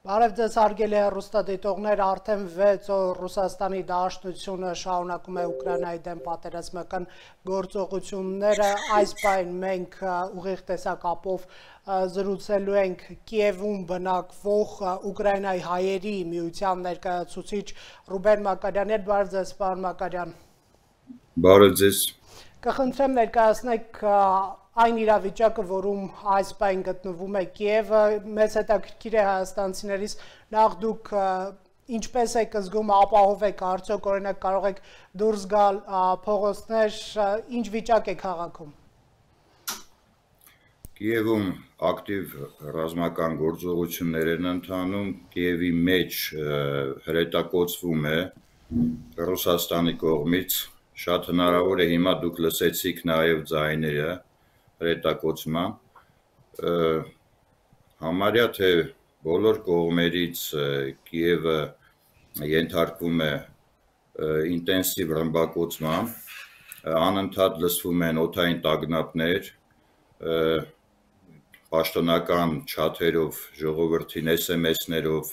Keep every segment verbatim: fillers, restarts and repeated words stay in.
Բարև ձեզ հարգելի հեռուստադիտողներ, արդեն վեց օր Ռուսաստանի Դաշնությունը շարունակում է Ուկրաինայի դեմ պատերազմական գործողությունները, այս պահին մենք ուղիղ տեսակապով զրուցելու ենք Կիևում բնակվող Ուկրաինայի հայերի միության ներկայացուցիչ Ռուբեն Մակարյանի հետ, բարև ձեզ պարոն Մակարյան։ Բարև ձեզ։ Կխնդրեմ ներկայացնեք այն իրավիճակը, որում այս պահին գտնվում է Կիևը, մեծ հետաքրքիր է հայաստանցիներից, նախ դուք ինչպես եք զգում, ապահով եք արդյոք, օրինակ կարող եք դուրս գալ փողոցներ, ինչ վիճակ է քաղաքում։ Կիևում ակտիվ ռազմական գործողություններ են ընթանում, Կիևի մեջ հրետակոծվում է Ռուսաստանի կողմից, շատ հնարավոր է հիմա դուք լսեցիք նաև ձայները հրետակոծման, համարյա թե բոլոր կողմերից Կիևը ենթարկվում է ինտենսիվ ռմբակոծման, անընդհատ լսվում են օդային տագնապներ, պաշտոնական չաթերով, ժողովրդին էս էմ էսներով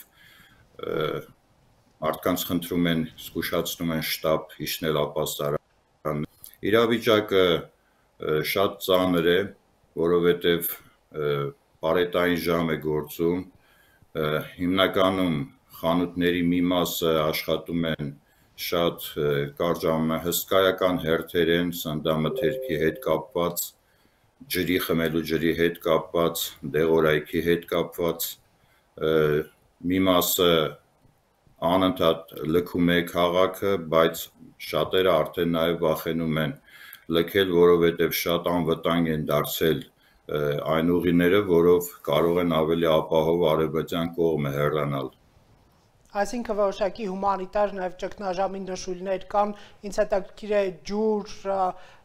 մարդկանց խնդրում են, զգուշացնում են շտապ իջնել ապաստարան։ Իրավիճակը շատ ծանր է, որովհետև պարետային ժամ է գործում, հիմնականում խանութների մի մասը աշխատում են շատ կարճ հսկայական հերթեր են, սննդամթերքի հետ կապված, ջրի խմելու ջրի հետ կապված, դեղորայքի հետ կապված, մի մասը անընդհատ լքում է քաղաքը, բայց շատերը արդեն նաև վախենում են լքել, որովհետև շատ անվտանգ են դարձել այն ուղիները, որով կարող են ավելի ապահով արևմտյան կողմը հեռանալ։ Այսինքն որոշակի հումանիտար նաև ճգնաժամի նշույլներ կան, ինձ հետաքրքիր է ջուր,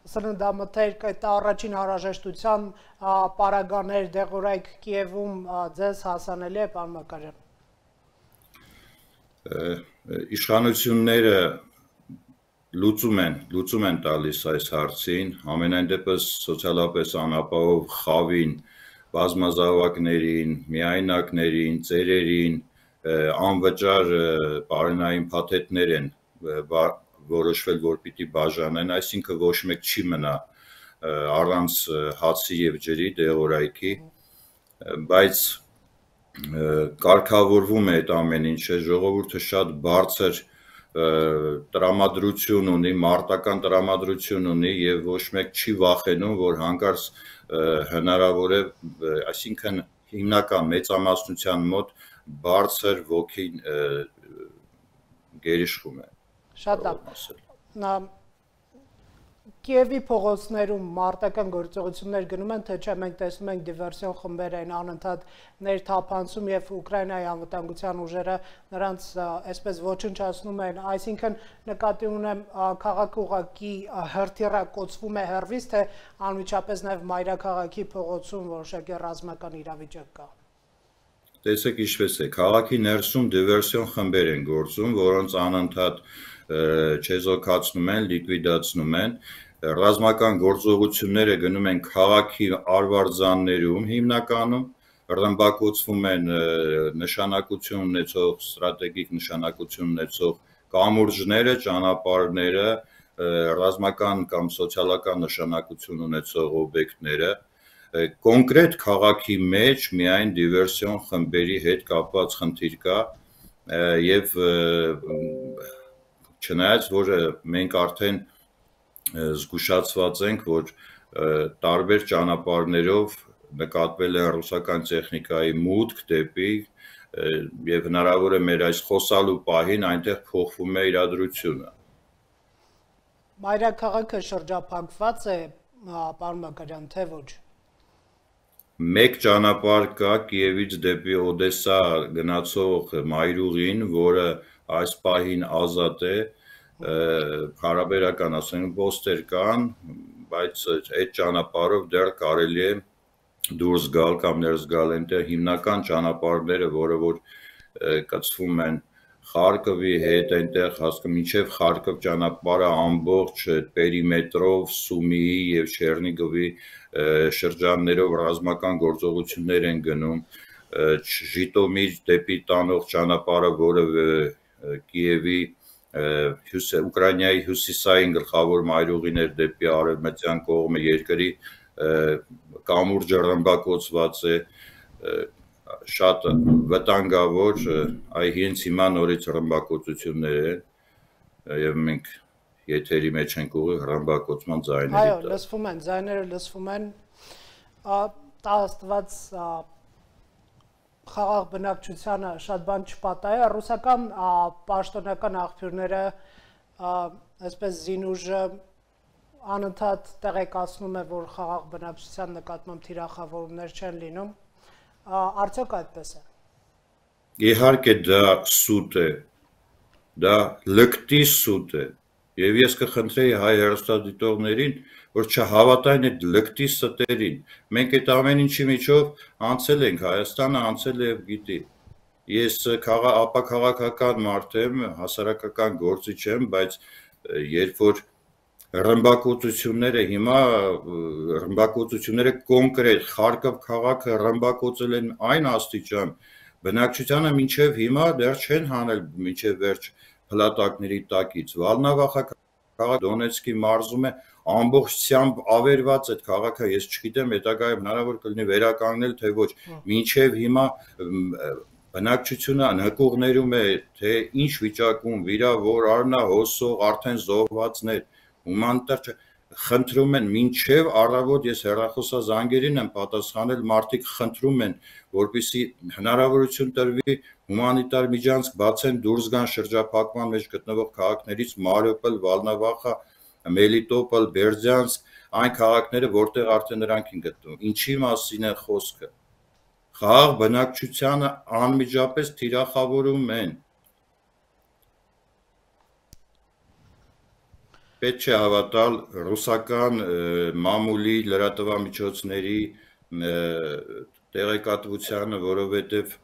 սննդամթերք, այդ առաջին հարաժեշտության պարագաներ, դեղորայք Կիևում ձեզ հասանելի է, պարոն Մակարյան։ Իշխանությունները լուծում են, լուծում են տալիս այս հարցին, ամենայն դեպս սոցիալապես անապահով խավին, բազմազավակներին, միայնակներին, ծերերին, անվճար պարենային փաթեթներ են որոշվել, որ պիտի բաժանեն, այսինքն ոչ մեկ չի մնա առանց հացի և ջրի, դեղորայքի, բայց կարգավորվում է այդ ամեն ինչը, ժողովուրդը շատ բարձր տրամադրություն ունի, մարտական տրամադրություն ունի և ոչ մեկ չի վախենում, որ հանկարծ հնարավոր է, այսինքն հիմնական մեծամասնության մոտ բարձր ոգին գերիշխում է։ Շատ լավ։ Կիևի փողոցներում մարտական գործողություններ գնում են, թե չէ մենք տեսնում ենք դիվերսիոն խմբեր են անընդհատ ներթափանցում և Ուկրաինայի անվտանգության ուժերը նրանց այսպես ոչնչացնում են, այսինքն նկատի ունեմ քաղաքը ուղղակի հրթիռակոծվում է հեռվից, թե անմիջապես նաև մայրաքաղաքի փողոցում որոշակի ռազմական իրավիճակ կա։ Տեսեք ինչպես է, քաղաքի ներսում դիվերսիոն խմբեր են գործում, որոնց անընդհատ չեզոքացնում են, լիկվիդացնում են, ռազմական գործողությունները գնում են քաղաքի արվարձաններում հիմնականում, ռմբակոծվում են նշանակություն ունեցող, ստրատեգիկ նշանակություն ունեցող կամուրջները, ճանապարհները, ռազմական կամ սոցիալական նշանակություն ունեցող օբյեկտները, կոնկրետ քաղաքի մեջ միայն դիվերսիոն խմբերի հետ կապված խնդիր կա և չնայած, որ մենք արդեն զգուշացված ենք, որ տարբեր ճանապարհներով նկատվել է ռուսական տեխնիկայի մուտք դեպի և հնարավոր է մեր այս խոսալու պահին այնտեղ փոխվում է իրադրությունը։ Մայրաքաղաքը շրջափակված է, պարոն Մակարյան, թե ոչ։ Մեկ ճանապարհ կա Կիևից դեպի Օդեսա գնացող մայրուղին, որը այս պահին ազատ է, հարաբերական ասենք ոստեր կան, բայց այդ ճանապարհով դեռ կարելի է դուրս գալ կամ ներս գալ, այնտեղ հիմնական ճանապարհները, որը որ կցվում են Խարկովի հետ այնտեղ հասկում մինչև Խարկով ճանապարհը ամբողջ պերիմետրով Սումիի եւ Չեռնիգովի շրջաններով ռազմական գործողություններ են գնում Ժիտոմիր դեպի տանող ճանապարհը, որը Կիևի Ուկրաինայի հյուսիսային գլխավոր մայրուղիներ դեպի արևմտյան կողմը երկրի կամուրջը ռմբակոծված է շատ վտանգավոր այ հենց հիմա նորից ռմբակոծություններ են եւ մենք եթերի մեջ ենք ուղիղ ռմբակոծման ձայների այո լսվում են ձայները լսվում են տա աստված խաղաղ բնակչությանը շատ բան չպատահի ռուսական պաշտոնական աղբյուրները այսպես զինուժը անընդհատ տեղեկացնում է որ խաղաղ բնակչության նկատմամբ թիրախավորումներ չեն լինում Արդյոք այդպես է։ Իհարկե դա սուտ է, դա լկտի սուտ է, եւ ես կխնդրեի հայ հեռուստադիտողներին, որ չհավատային այդ լկտի ստերին։ Մենք այդ ամեն ինչի միջով անցել ենք, Հայաստանը անցել է եւ գիտի։ Ես ապաքաղաքական մարդ եմ, հասարակական գործիչ եմ, բայց երբ որ ռմբակոծությունները հիմա ռմբակոծությունները կոնկրետ Խարկով քաղաքը ռմբակոծել են այն աստիճան բնակչությանը մինչև հիմա դեռ չեն հանել մինչև վերջ փլատակների տակից Վալնավախա քաղաքը Դոնեցկի մարզում է ամբողջությամբ ավերված այդ քաղաքը ես չգիտեմ հետագայում հնարավոր կլինի վերականգնել թե ոչ մինչև հիմա բնակչությունը նկուղներում է թե ինչ վիճակում վիրավոր արնա հոսող արդեն զոհվածներ Ումանտար խնդրում են մինչև առավոտ ես հեռախոսազանգերին եմ պատասխանել մարդիկ խնդրում են որպեսզի հնարավորություն տրվի հումանիտար միջանցք բացեն դուրս գան շրջափակման մեջ գտնվող քաղաքներից Մարիուպոլ, Վալնավախա, Մելիտոպոլ, Բերձյանսկ այն քաղաքները որտեղ արդեն նրանք են գտնվում ինչի մասին է խոսքը խաղաղ բնակչությանը անմիջապես թիրախավորում են Պետք չէ հավատալ ռուսական մամուլի լրատվամիջոցների տեղեկատվությանը, որովհետև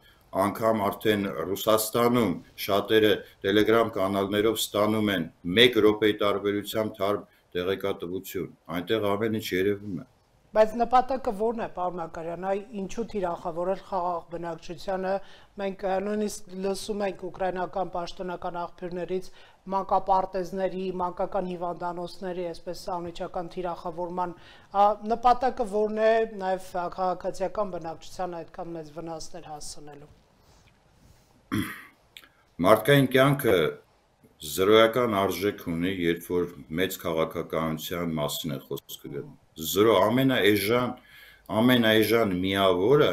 անգամ արդեն Ռուսաստանում շատերը Telegram կանալներով ստանում են մեկ րոպեի տարբերությամբ թարմ տեղեկատվություն, այնտեղ ամեն ինչ երևում է։ Բայց նպատակը ո՞րն է, պարոն Մակարյան, այ ինչու թիրախավորել խաղաղ բնակչությանը, մենք նույնիսկ լսում ենք ուկրաինական պաշտոնական աղբյուրներից մանկապարտեզների, մանկական հիվանդանոցների, այսպես անմիջական թիրախավորման նպատակը ո՞րն է նաև քաղաքացիական բնակչությանը այդքան մեծ վնասներ հասցնելու։ Մարդկային կյանքը զրոյական արժեք ունի, երբ որ մեծ քաղաքականության մասին է խոսքը գնում։ Զրո ամենաէժան, ամենաէժան միավորը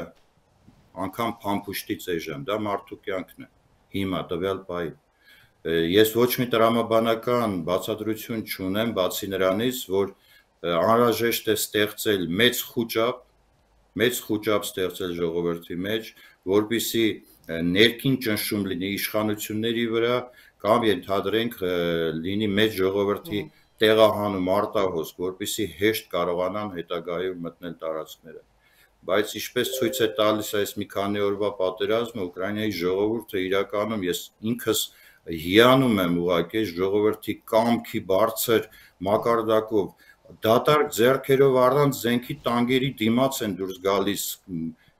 անգամ փամփուշտից էժան, դա մարդու կյանքն է, հիմա տվյալ պահի։ Ես ոչ մի տրամաբանական բացատրություն չունեմ, բացի նրանից, որ անհրաժեշտ է ստեղծել մեծ խուճապ, մեծ խուճապ ստեղծել ժողովրդի մեջ, որպեսզի ներքին ճնշում լինի իշխանությունների վրա, կամ ենթադրենք լինի մեծ ժողովրդի տեղահանում արտահոսք, որպեսզի հեշտ կարողանան հետագայում մտնել տարածքները։ Բայց ինչպես ցույց է տալիս այս մի քանի օրվա պատերազմը, Ուկրաինայի ժողովուրդը իրականում ես ինքս հիանում եմ ուղղակի ժողովրդի կամքի բարձր մակարդակով դատարկ ձեռքերով առանց զենքի տանկերի դիմաց են դուրս գալիս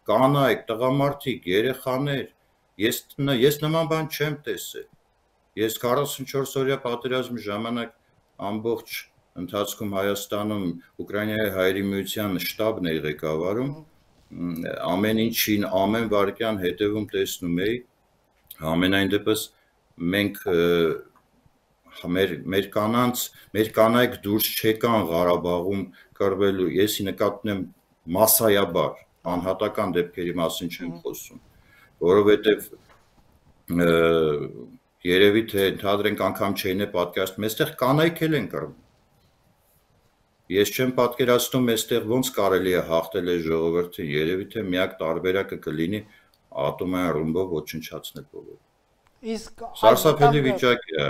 կանայք, տղամարդիկ, երեխաներ։ Ես ես նման բան չեմ տեսել։ Ես քառասունչորս օրյա պատերազմի ժամանակ ամբողջ ընթացքում Հայաստանում Ուկրաինայի հայերի միության շտաբն էի ղեկավարում, ամեն ինչին, ամեն վայրկյան հետևում տեսնում էի, ամենայն դեպս մենք մեր մեր կանանց, մեր կանայք դուրս չեկան Ղարաբաղում կռվելու, ես նկատում եմ մասսայաբար, անհատական դեպքերի մասին չեմ խոսում, որովհետև երևի թե ընդհանրենք անգամ չէին է պատկերացնում, այստեղ կանայք էլ են կռվում։ Ես չեմ պատկերացնում, այստեղ ոնց կարելի է հաղթել այս ժողովրդին, երևի թե միակ տարբերակը կլինի ատոմային ռումբով ոչնչացնել բոլորը։ Իսկ սարսափելի վիճակ է։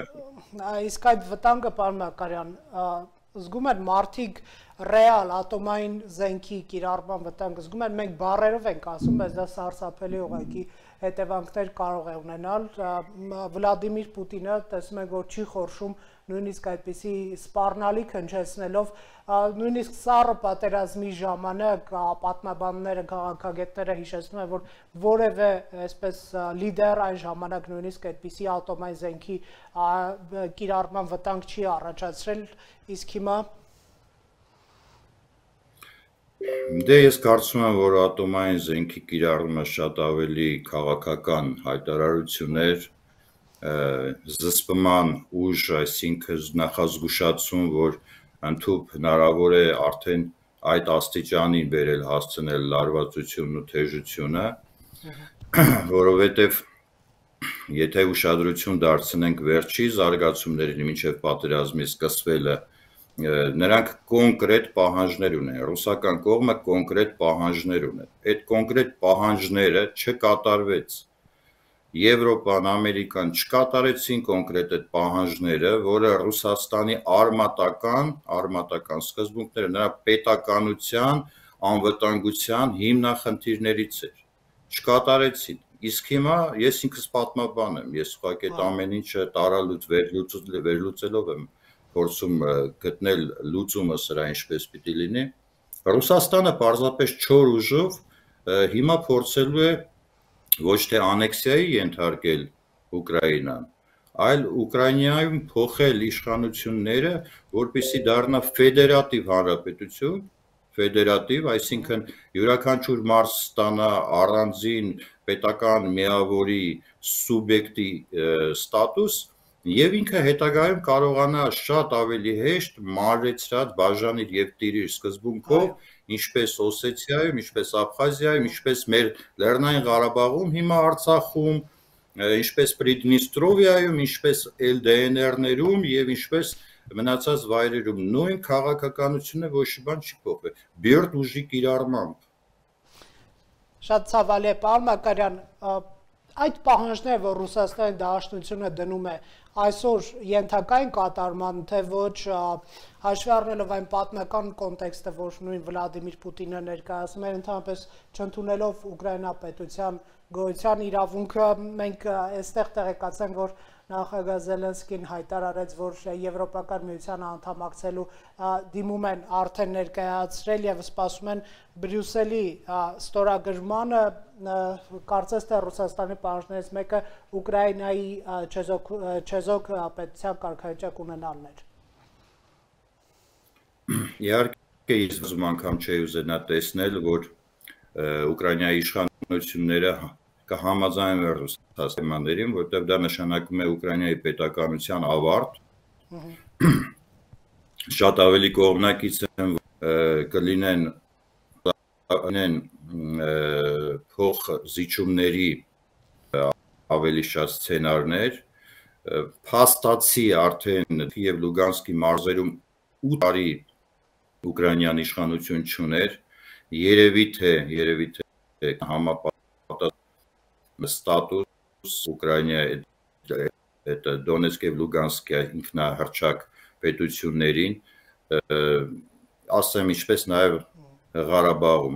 Իսկ այդ վտանգը, պարոն Մակարյան, զգում են մարդիկ ռեալ ատոմային զենքի կիրառման վտանգ զգում են, մենք բառերով ենք ասում, բայց դա սարսափելի ուղղակի հետևանքներ կարող է ունենալ։ Վլադիմիր Պուտինը տեսնում ենք, որ չի խորշում նույնիսկ այդպիսի սպառնալիք հնչեցնելով, նույնիսկ սառը պատերազմի ժամանակ պատմաբանները, քաղաքագետները հիշեցնում են, որ որևէ այսպես լիդեր այն ժամանակ նույնիսկ այդպիսի ատոմային զենքի կիրառման վտանգ չի առաջացրել, իսկ հիմա Դե ես կարծում եմ, որ ատոմային զենքի կիրառումը շատ ավելի քաղաքական հայտարարություն էր, զսպման ուժ, այսինքն նախազգուշացում, որ ընդհանուր հնարավոր է արդեն այդ աստիճանին բերել հասցնել լարվածությունն ու թեժությունը, որովհետև եթե ուշադրություն դարձնենք վերջի զարգացումներին մինչև պատերազմի սկսվելը, նրանք կոնկրետ պահանջներ ունեն, ռուսական կողմը կոնկրետ պահանջներ ունեն, այդ կոնկրետ պահանջները չկատարվեց, Եվրոպան, Ամերիկան չկատարեցին կոնկրետ այդ պահանջները, որը Ռուսաստանի արմատական, արմատական սկզբունքները նրա պետականության, անվտանգության հիմնախնդիրներից էր, չկատարեցին, իսկ հիմա ես ինքս պատմաբան եմ, ես ուղղակի այդ ամեն ինչը տարալուծ վերլուծելով եմ փորձում գտնել լուծումը սրա ինչպես պիտի լինի, Ռուսաստանը պարզապես չոր ուժով հիմա փորձելու է ոչ թե անեքսիայի ենթարկել Ուկրաինան, այլ Ուկրաինայում փոխել իշխանությունները, որպեսզի դառնա ֆեդերատիվ հանրապետություն, ֆեդերատիվ, այսինքն յուրաքանչյուր մարդ ստանա առանձին պետական միավորի սուբյեկտի ստատուս եւ ինքը հետագայում կարողանա շատ ավելի հեշտ մանրեցրած բաժանիր եւ տիրիր սկզբունքով, ինչպես Օսեթիայում, ինչպես Աբխազիայում, ինչպես մեր Լեռնային Ղարաբաղում, հիմա Արցախում, ինչպես Պրիդնիստրովիայում, ինչպես Էլ Դե Են Էրներում եւ ինչպես մնացած վայրերում նույն քաղաքականությունը ոչ մի բան չի փոխվել, բյուրդ ուժի կիրառմամբ։ Շատ ցավալի է, պարոն Մակարյան, այդ պահանջները, որ Ռուսաստանի Դաշնությունը դնում է, այսօր ենթակային կատարման, թե ոչ հաշվի առնելով այն պատմական կոնտեքստը, որ նույն Վլադիմիր Պուտինը ներկայացնում է, ընդհանրապես չընդունելով Ուկրաինա պետության գոյության իրավունքը, մենք այստեղ տեղեկացանք, որ նախագահ Զելենսկին հայտարարեց, որ Եվրոպական միությանը անդամակցելու դիմում են արդեն ներկայացրել եւ սպասում են Բրյուսելի ստորագրմանը, կարծես թե Ռուսաստանի պահանջներից մեկը Ուկրաինայի չեզոք պետության կարգավիճակ ունենալն էր։ Իհարկե, ես ուզում անգամ չէի ուզենա տեսնել, որ Ուկրաինայի իշխանությունները կհամաձայնվեն Ռուսաստանին, որտեղ դա նշանակում է Ուկրաինայի պետականության ավարտ, շատ ավելի կողմնակից են կլինեն փոխզիջումների ավելի շատ սցենարներ, փաստացի արդեն Կիև Լուգանսկի մարզերում ութ տարի Ուկրաինյան իշխանություն չուներ, երևի թե երևի թե համապատասխան ստատուս Ուկրաինայի այդ Դոնեցկ եւ Լուգանսկի ինքնահռչակ պետություններին, ասեմ ինչպես նաեւ Ղարաբաղում,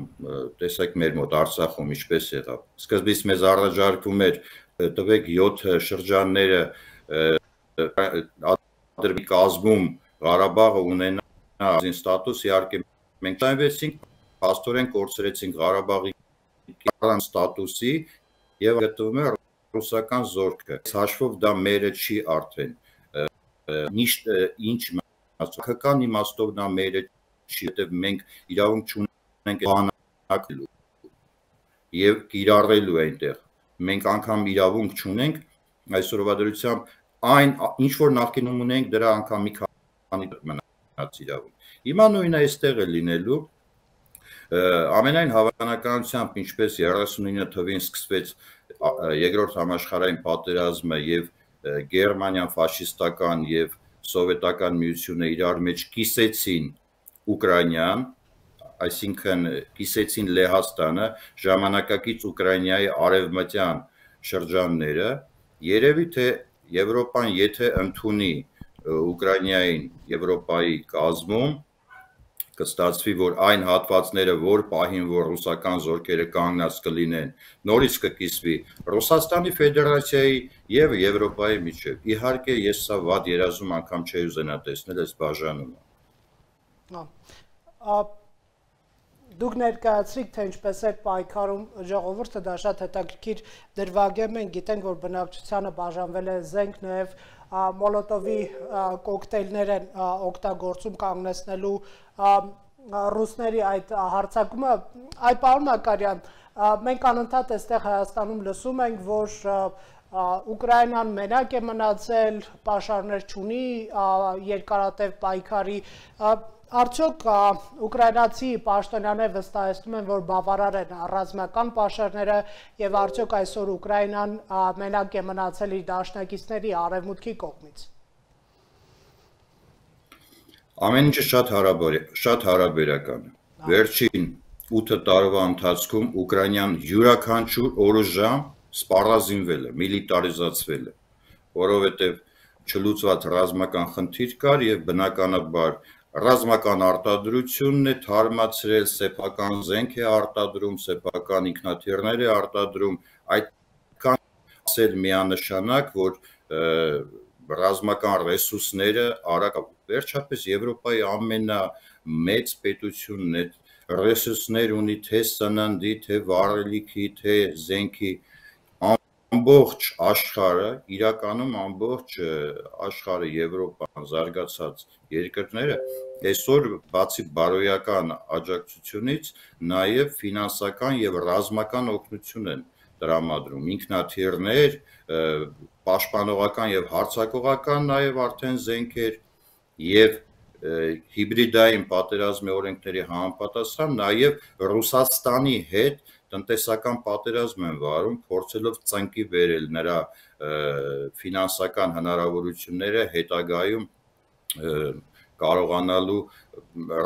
տեսեք մեր մոտ Արցախում ինչպես եղավ։ Սկզբից մեզ առաջարկվում էր տվեք յոթ շրջանները ադրբի կազմում Ղարաբաղը ունենա ազին ստատուս, իհարկե մենք տայնվեցինք, փաստորեն կորցրեցինք Ղարաբաղի առանց ստատուսի եւ գտնվում է ռուսական զորքը։ Հաշվով դա մերը չի արդեն։ Ինչ քաղաքական իմաստով դա մերը չի, որտեղ մենք իրավունք չունենք բանակելու եւ կիրառելու այնտեղ։ Մենք անգամ իրավունք չունենք այսօրվա դրությամբ այն ինչ որ նախկինում ունենք դրա անգամ մի քանի մնաց իրավունք։ Հիմա նույնը այստեղ է լինելու։ Ամենայն հավանականությամբ ինչպես երեսունինը թվին սկսվեց երկրորդ համաշխարհային պատերազմը եւ Գերմանիան ֆաշիստական եւ սովետական միությունը իրար մեջ կիսեցին Ուկրաինան, այսինքն կիսեցին Լեհաստանը, ժամանակակից Ուկրաինայի արևմտյան շրջանները, երևի թե Եվրոպան եթե ընդունի Ուկրաինային Եվրոպայի կազմում, կստացվի, որ այն հատվածները, որ պահին, որ ռուսական զորքերը կանգնած կլինեն, նորից կկիսվի Ռուսաստանի Ֆեդերացիայի եւ Եվրոպայի միջեւ։ Իհարկե, ես սա վատ երազում անգամ չէի ուզենա տեսնել այս բաժանումը։ Ա Դուք ներկայացրիք, թե ինչպես է պայքարում ժողովուրդը, դա շատ հետաքրքիր դրվագ է, մենք գիտենք, որ բնակչությանը բաժանվել է զենք, նաև մոլոտովի կոկտեյլներ են օգտագործում կանգնեցնելու ռուսների այդ հարձակումը։ Այ պարոն Մակարյան, մենք անընդհատ այստեղ Հայաստանում լսում ենք, որ Ուկրաինան մենակ է մնացել, պաշարներ չունի երկարատև պայքարի, արդյոք ուկրաինացի պաշտոնյաները վստահեցնում են, որ բավարար են ռազմական պաշարները եւ արդյոք այսօր Ուկրաինան մենակ է մնացել իր դաշնակիցների արևմուտքի կողմից։ Ամեն ինչը շատ շատ հարաբերական է։ Վերջին ութ տարվա ընթացքում Ուկրաինան յուրաքանչյուր օրոժամ սպառազինվել է, միլիտարիզացվել է, որովհետեւ չլուծված ռազմական խնդիր կար եւ բնականաբար ռազմական արտադրությունն է թարմացրել, սեփական զենք է արտադրում, սեփական ինքնաթիռներ է արտադրում, այդքան ասել միանշանակ, որ ռազմական ռեսուրսները արագ, վերջապես Եվրոպայի ամենամեծ պետությունն է, ռեսուրսներ ունի թե սննդի, թե վառելիքի, թե զենքի, ամբողջ աշխարհը, իրականում ամբողջ աշխարհը, Եվրոպան, զարգացած երկրները այսօր բացի բարոյական աջակցությունից նաև ֆինանսական եւ ռազմական օգնություն են տրամադրում, ինքնաթիռներ, պաշտպանողական եւ հարձակողական նաև արդեն զենքեր եւ հիբրիդային պատերազմի օրենքների համապատասխան նաև Ռուսաստանի հետ տնտեսական պատերազմ են վարում, փորձելով ծնկի բերել նրա ֆինանսական հնարավորությունները հետագայում կարողանալու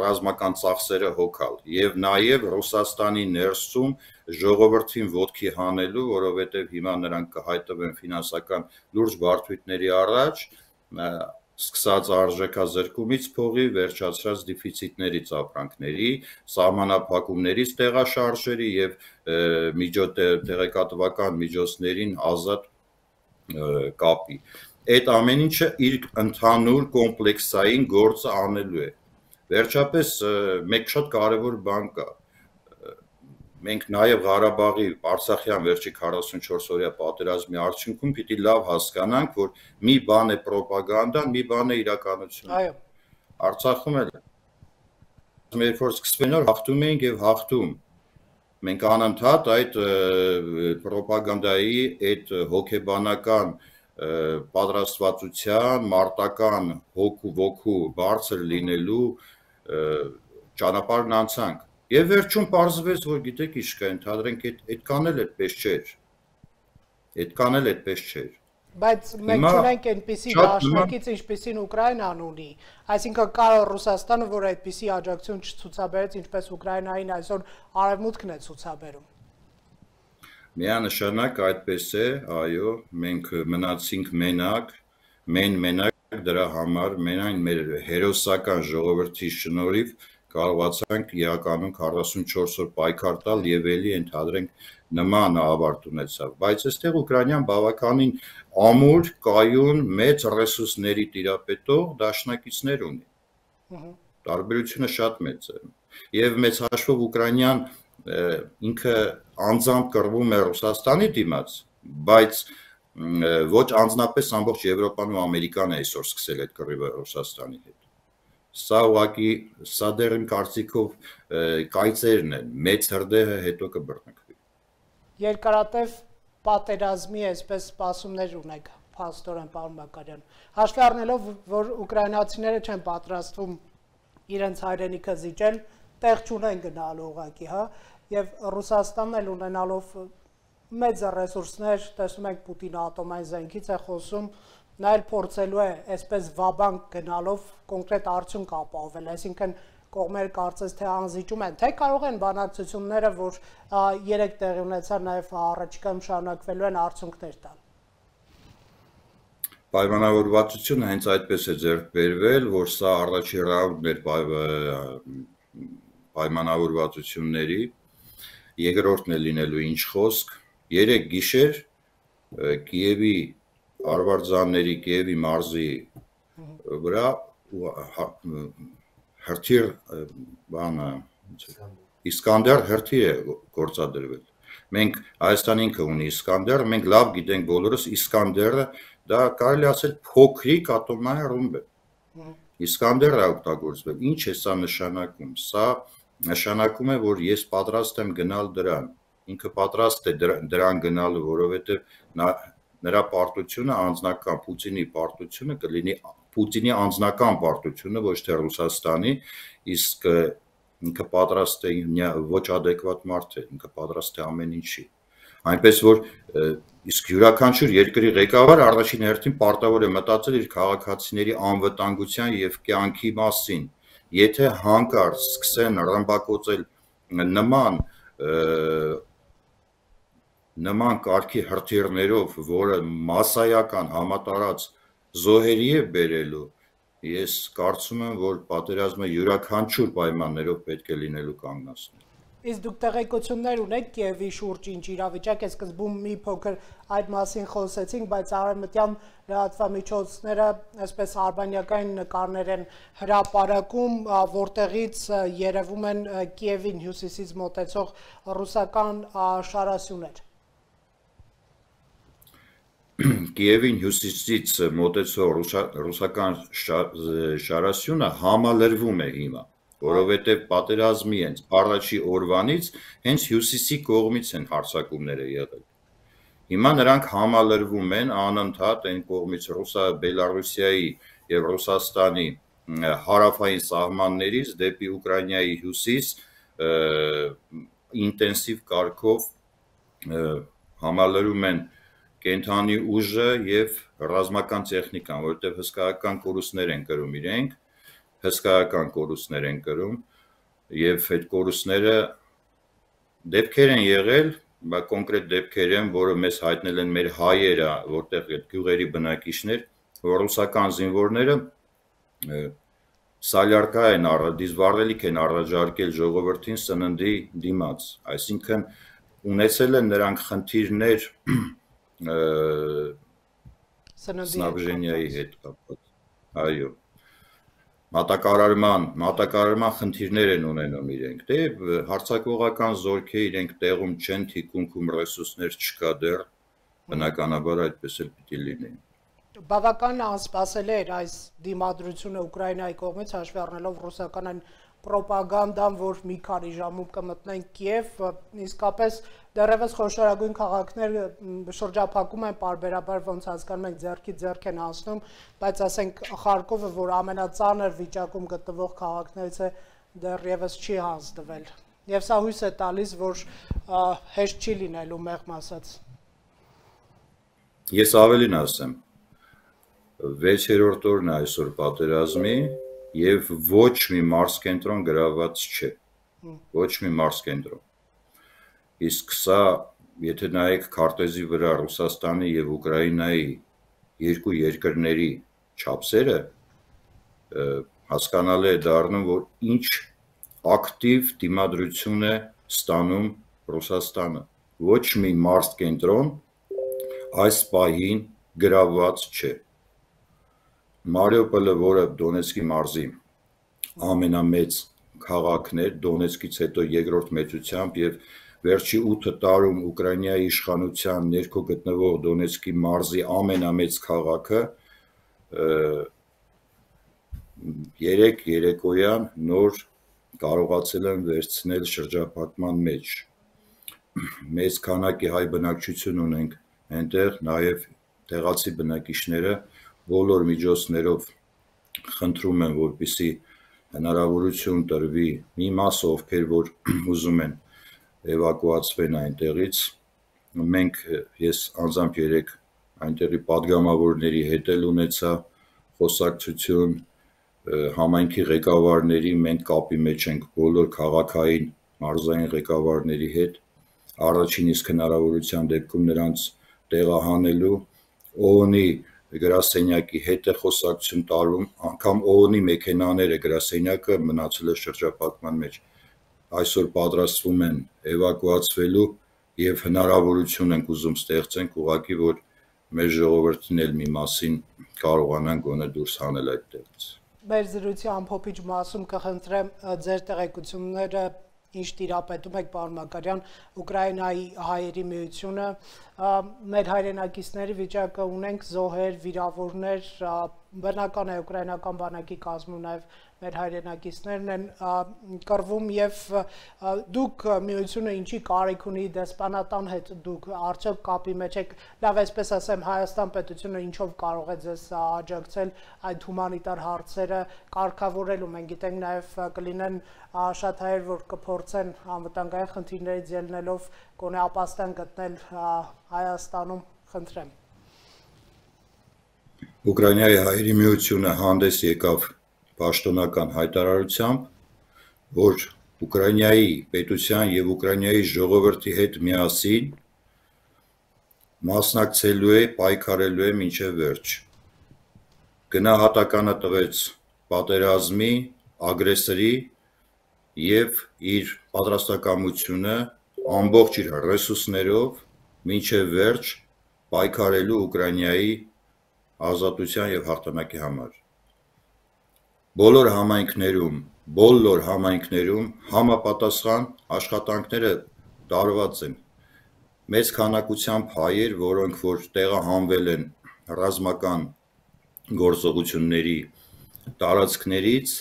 ռազմական ծախսերը հոգալ եւ նաեւ Ռուսաստանի ներսում ժողովրդին ոտքի հանելու, որովհետեւ հիմա նրանք կհայտնվեն ֆինանսական լուրջ բարդությունների առաջ, սկսած արժեքազրկումից փողի, վերջացրած դեֆիցիտներից ապրանքների, սահմանափակումներից տեղաշարժերի եւ տեղեկատվական միջոցներին ազատ կապի։ Այդ ամեն ինչը իր ընդհանուր կոմպլեքսային գործը անելու է։ Վերջապես մեկ շատ կարևոր բան կա։ Մենք նաև Ղարաբաղի Արցախյան վերջի քառասունչորս օրյա պատերազմի արդյունքում պիտի լավ հասկանանք, որ մի բան է ռոպագանդան, մի բան է իրականություն։ Այո։ Արցախում էլ երբ որ սկսվեն որ հաղթում էինք եւ հաղթում։ Մենք անընդհատ այդ ռոպագանդայի, այդ հոգեբանական պատրաստվածության, մարտական հոգու ոգու բարձր լինելու ճանապարհն անցանք։ Եվ վերջում պարզվեց, որ գիտեք ինչ կա, ընդհանրենք այդքան էլ այդպես չէր։ Այդքան էլ այդպես չէր։ Բայց մենք ունենք այնպիսի դաշնակից, ինչպիսին Ուկրաինան ունի, այսինքն կարող Ռուսաստանը, որ այդպիսի աջակցություն չցուցաբերեց, ինչպես Ուկրաինային այսօր արևմուտքն է ցուցաբերում։ Միանշանակ այդպես է, այո, մենք մնացինք մենակ, մեն մենակ դրա համար, մենայն մեր հերոսական ժողովրդի շնորհիվ կարողացանք իրականում քառասունչորս օր պայքար տալ եւ էլի ընդհանրենք նման ավարտ ունեցավ, բայց այստեղ Ուկրաինան բավականին ամուր, կայուն, մեծ ռեսուրսների տիրապետող դաշնակիցներ ունի։ Տարբերությունը շատ մեծ է։ Եվ մեծ հաշվով Ուկրաինան ինքը անձամբ կռվում է Ռուսաստանի դիմաց, բայց ոչ անձնապես ամբողջ Եվրոպան ու Ամերիկան է այսօր սկսել այդ կռիվը Ռուսաստանի հետ։ Սա ուղղակի սա դեռ իմ կարծիքով կայծերն են, մեծ հրդեհը հետո կբռնկվի։ Երկարատև պատերազմի այսպես սպասումներ ունեք, փաստորեն պարոն Մակարյան։ Հաշվի առնելով, որ ուկրաինացիները չեն պատրաստվում իրենց հայրենիքը զիջել, տեղ չունեն գնալու ուղղակի, հա, եւ Ռուսաստանն էլ ունենալով մեծ ռեսուրսներ, տեսնում ենք Պուտինը ատոմային զենքից է խոսում, նա էլ փորձելու է այսպես վաբանկ գնալով կոնկրետ արդյունք ապահովել, այսինքն կողմերը կարծես թե անզիջում են, թե կարող են բանակցությունները, որ երեք տեղի ունեցան, նաև առաջիկայում շարունակվելու են արդյունքներ տալ։ Պայմանավորվածությունը հենց այդպես է ձեռք բերվել, որ սա առաջին ռաունդն էր պայմանավորվածությունների, երկրորդն է լինելու ինչ խոսք, երեք գիշեր Կիևի արվարձանների, Կիևի մարզի վրա հրթիռ բանը Իսկանդեր հրթիռ է գործադրվել։ Մենք Հայաստան ինքը ունի Իսկանդեր, մենք լավ գիտենք բոլորս Իսկանդերը, դա կարելի ասել փոքրիկ ատոմային ռումբ է։ Իսկանդերը օգտագործվել։ Ինչ է սա նշանակում։ Սա նշանակում է, որ ես պատրաստ եմ գնալ դրան։ Ինքը պատրաստ է դրան գնալու, որովհետև նրա պարտությունը անձնական Պուտինի պարտությունը կլինի Պուտինի անձնական պարտությունը, ոչ թե Ռուսաստանի, իսկ ինքը պատրաստ է ոչ adekvat մարդ է, ինքը պատրաստ է ամեն ինչի։ Այնպես որ իսկ յուրաքանչյուր երկրի ղեկավար առաջին հերթին պարտավոր է մտածել իր քաղաքացիների անվտանգության եւ կյանքի մասին։ Եթե հանկարծ սկսեն ռմբակոծել նման նման կարգի հրթիռներով, որը մասսայական համատարած զոհերի է բերելու, ես կարծում եմ, որ պատերազմը յուրաքանչյուր պայմաններով պետք է լինելու կանգնեցնել։ Իսկ դուք տեղեկություններ ունեք Կիևի շուրջ ինչ իրավիճակ է, սկզբում մի փոքր այդ մասին խոսեցինք, բայց արևմտյան լրատվամիջոցները այսպես արբանյակային նկարներ են հրապարակում, որտեղից երևում են Կիևին հյուսիսից մոտեցող ռուսական շարասյուներ։ Կիևին հյուսիսից մոտեցող ռուսական շարասյունը համալրվում է հիմա, որովհետև պատերազմի հենց առաջի օրվանից հենց հյուսիսի կողմից են հարձակումները եղել։ Հիմա նրանք համալրվում են անընդհատ այն կողմից Բելառուսիայի եւ Ռուսաստանի հարավային սահմաններից դեպի Ուկրաինայի հյուսիս ինտենսիվ կարգով համալրում են կենթանի ուժը եւ ռազմական տեխնիկան, որովհետեւ հսկայական կորուստներ են կրում իրենք, հսկայական կորուստներ են կրում եւ այդ կորուստները դեպքեր են եղել, բայց կոնկրետ դեպքեր են, որը մեզ հայտնել են մեր հայերը, որտեղ այդ գյուղերի բնակիչներ, որ ռուսական զինվորները սալյարկա են դիզվառելիք են առաջարկել ժողովրդին սննդի դիմաց, այսինքն ունեցել են նրանք խնդիրներ Սնաբժենիայի հետ կապված, այո, մատակարարման, մատակարարման խնդիրներ են ունենում իրենք, դե հարձակողական զորքեր իրենք տեղում չեն, թիկունքում ռեսուրսներ չկա դեռ, բնականաբար այդպես էլ պիտի լինի։ Բավական անսպասելի էր այս դիմադրությունը Ուկրաինայի կողմից, հաշվի առնելով ռուսական այն պրոպագանդան, որ մի քանի ժամում կմտնեն Կիև, իսկապես դեռևս խոշորագույն քաղաքներ շրջափակում են պարբերաբար, ոնց հասկանում ենք ձեռքի ձեռք են անցնում, բայց ասենք Խարկովը, որ ամենածանր վիճակում գտնվող քաղաքներից է, դեռևս չի հանձնվել։ Եվ սա հույս է տալիս, որ հեշտ չի լինելու մեղմ ասած։ Ես ավելին ասեմ, վեցերորդ օրն է այսօր պատերազմի եւ ոչ մի մարզկենտրոն գրաված չէ, ոչ մի մարզկենտրոն։ Իսկ սա, եթե նայեք քարտեզի վրա Ռուսաստանի եւ Ուկրաինայի երկու երկրների չափսերը, հասկանալի է դառնում, որ ինչ ակտիվ դիմադրություն է ստանում Ռուսաստանը։ Ոչ մի մարզկենտրոն այս պահին գրաված չէ։ Մարիուպոլը, որը Դոնեցկի մարզի ամենամեծ քաղաքն էր, Դոնեցկից հետո երկրորդ մեծությամբ եւ վերջի ութ տարում Ուկրաինայի իշխանության ներքո գտնվող Դոնեցկի մարզի ամենամեծ քաղաքը երեք երեկոյան նոր կարողացել են վերցնել շրջափակման մեջ։ Մեծ քանակի հայ բնակչություն ունենք այնտեղ, նաեւ տեղացի բնակիչները բոլոր միջոցներով խնդրում են, որպեսզի հնարավորություն տրվի մի մասը, ովքեր որ ուզում են էվակուացվեն այնտեղից։ Մենք ես անձամբ երեք այնտեղի падգամավորների հետ էլ ունեցա խոսակցություն, համայնքի ղեկավարների, մենք կապի մեջ ենք բոլոր քաղաքային մարզային ղեկավարների հետ, առաջին իսկ հնարավորության դեպքում նրանց տեղահանելու, ՕՕՆ-ի գրասենյակի հետ է խոսակցություն տարում, անգամ օ օն-ի մեքենաները գրասենյակը մնացել է շրջափակման մեջ, այսօր պատրաստվում են էվակուացվելու եւ հնարավորություն ենք ուզում ստեղծենք ուղղակի, որ մեր ժողովրդին էլ մի մասին կարողանան գոնե դուրս հանել այդտեղից։ Մեր զրույցի ամփոփիչ մասում կխնդրեմ ձեր տեղեկությունները ինչ տիրապետում եք պարոն Մակարյան Ուկրաինայի հայերի միությունը մեր հայրենակիցների վիճակը ունենք զոհեր, վիրավորներ, բնական է ուկրաինական բանակի կազմում նաև մեր հայրենակիցներն են կռվում եւ դուք միությունը ինչի կարիք ունի դեսպանատան հետ դուք արդյոք կապի մեջ եք լավ այսպես ասեմ Հայաստան պետությունը ինչով կարող է ձեզ աջակցել այդ հումանիտար հարցերը կարգավորելու մենք գիտենք նաեւ կլինեն շատ հայեր որ կփորձեն անվտանգային խնդիրներից ելնելով գոնե ապաստան գտնել Հայաստանում խնդրեմ Ուկրաինայի հայերի միությունը հանդես եկավ պաշտոնական հայտարարությամբ, որ Ուկրաինայի պետության եւ Ուկրաինայի ժողովրդի հետ միասին մասնակցելու է, պայքարելու է մինչև վերջ։ Գնահատականը տվեց պատերազմի, ագրեսորի եւ իր պատրաստակամությունը ամբողջ իր ռեսուրսներով մինչև վերջ պայքարելու Ուկրաինայի ազատության եւ հաղթանակի համար։ Բոլոր համայնքներում, բոլոր համայնքներում համապատասխան աշխատանքները տարված են։ Մեծ քանակությամբ հայեր, որոնք որ տեղահանվել են ռազմական գործողությունների տարածքներից,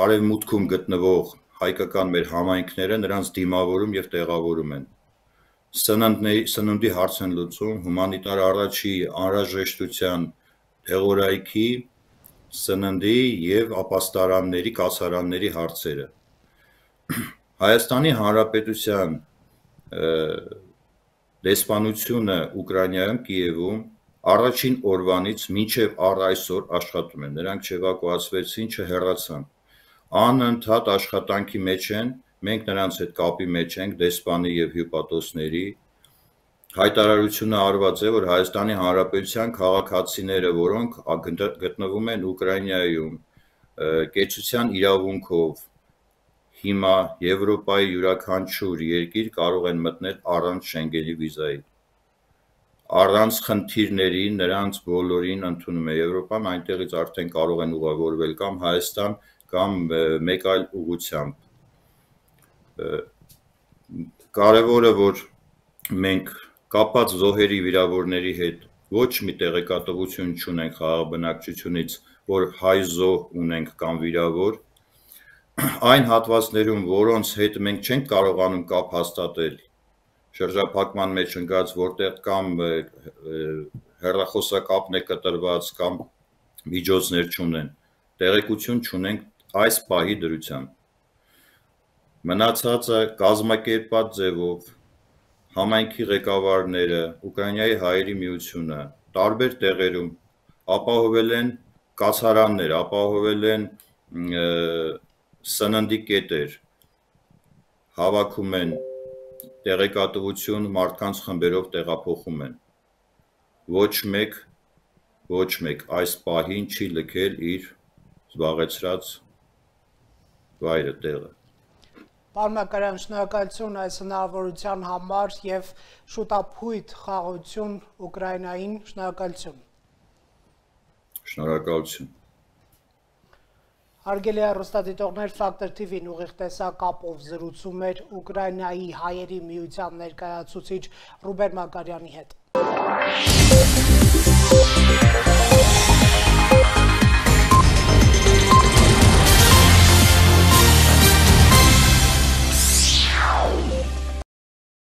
արևմուտքում գտնվող հայկական մեր համայնքները նրանց դիմավորում եւ տեղավորում են։ Սննդների, սննդի հարց են լուծում, հումանիտար առաջի անհրաժեշտության տեղորայքի սննդի եւ ապաստարանների, կացարանների հարցերը։ Հայաստանի Հանրապետության դեսպանությունը Ուկրաինայում Կիևում առաջին օրվանից մինչև առ այսօր աշխատում են։ Նրանք չեվակուացվեցին, չհեռացան։ Անընդհատ աշխատանքի մեջ են, մենք նրանց հետ կապի մեջ ենք, դեսպանի եւ հյուպատոսների հայտարարությունը արված է, որ Հայաստանի Հանրապետության քաղաքացիները, որոնք գտնվում են Ուկրաինայում, կեցության իրավունքով հիմա Եվրոպայի յուրաքանչյուր երկիր կարող են մտնել առանց Շենգենի վիզայի։ Առանց խնդիրների նրանց բոլորին ընդունում է Եվրոպան, այնտեղից արդեն կարող են ուղևորվել կամ Հայաստան, կամ մեկ այլ ուղղությամբ։ Կարևորը, որ մենք կապած զոհերի վիրավորների հետ ոչ մի տեղեկատվություն չունենք խաղաղ բնակչությունից, որ հայ զոհ ունենք կամ վիրավոր, այն հատվածներում, որոնց հետ մենք չենք կարողանում կապ հաստատել, շրջափակման մեջ ընկած, որտեղ կամ հեռախոսակապն է կտրված, կամ միջոցներ չունեն, տեղեկություն չունենք այս պահի դրությամբ։ Մնացածը կազմակերպված ձևով համայնքի ղեկավարները, Ուկրաինայի հայերի միությունը տարբեր տեղերում ապահովել են կացարաններ, ապահովել են սննդի կետեր, հավաքում են տեղեկատվություն, մարդկանց խմբերով տեղափոխում են։ Ոչ մեկ, ոչ մեկ այս պահին չի լքել իր զբաղեցրած վայրը, տեղը։ Պարոն Մակարյան, շնորհակալություն այս հնարավորության համար եւ շուտափույթ խաղաղություն Ուկրաինային, շնորհակալություն։ Շնորհակալություն։ Հարգելի հեռուստադիտողներ, Factor T V-ն ուղիղ տեսակապով զրուցում էր Ուկրաինայի հայերի միության ներկայացուցիչ Ռուբեն Մակարյանի հետ։